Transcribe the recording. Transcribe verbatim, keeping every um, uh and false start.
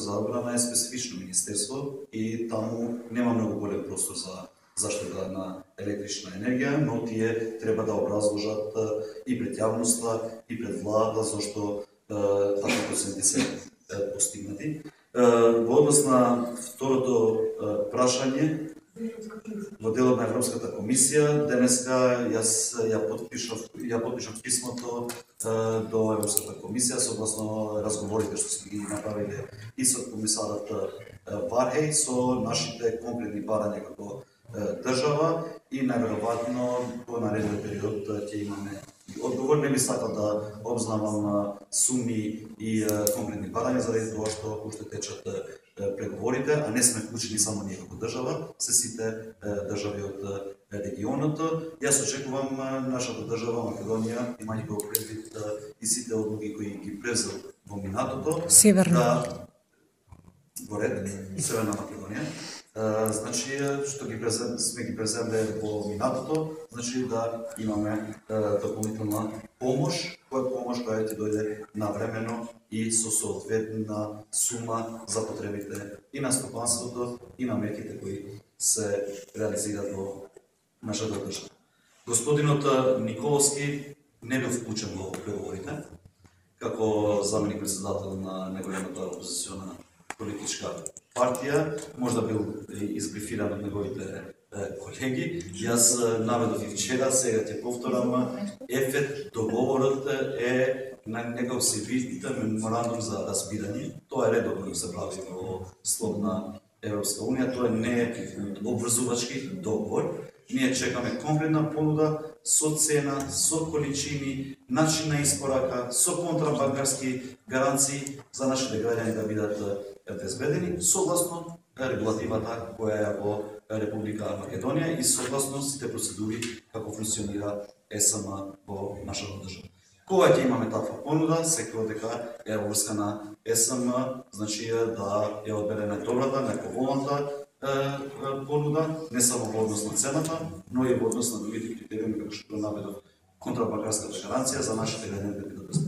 за одбрана е специфично министерство и таму нема многу голем простор за заштита на електрична енергија, но тие треба да образложат и пред јавноста и пред владата зашто такви проценти се постигнати. Во однос на второто прашање, во делот на Европската комисија, денеска јас ја подпишав, ја подпишав писмото до Европската комисија согласно разговорите што сме ги направиле и со комисарот Вархеј со нашите конкретни барања како држава и најверојатно во наредниот период ќе имаме и одговор. Не би сакал да обзнавам суми и конкретни барања заради тоа што уште течат преговорите, а не сме вклучени само ние како држава, се сите држави од регионот. Јас очекувам нашата држава Македонија, имајќи го предвид и сите одлуки кои ги превзел во минатото, Северна да во ред, Северна Македонија, значи што ги презем, сме ги преземле во минатото, значи да имаме дополнителна помош, која помош која ќе дојде навремено и со соодветна сума за потребите и на стопанството и на мерките кои се реализираат во нашата држава. Господинот Николовски не бил вклучен во преговорите како заменик председател на неголемата опозициона политичка партија, можда бил избрифиран од неговите колеги. Јас наведов и вчера, сега ќе повторам, ефект договорот е на некој се види меморандум за разбирање. Тоа е редовно да се прави во слободна Европска унија, тоа не е обврзувачки договор. Ние чекаме конкретна понуда со цена, со количини, начин на испорака, со контрабанкарски гаранции за нашите граѓани да бидат безбедени, согласно регулативата која е во Република Македонија и согласно сите процедури како функционира ЕСМ во нашата држава. Кога ќе имаме таква понуда, секој дека е врска на ЕСМ, значи да ја одбере најдобрата, најповолната понуда, не само во однос на цената, но и во однос на другите критериуми како што наведов контрабанкарската гаранција за нашите граѓани да бидат безбедни.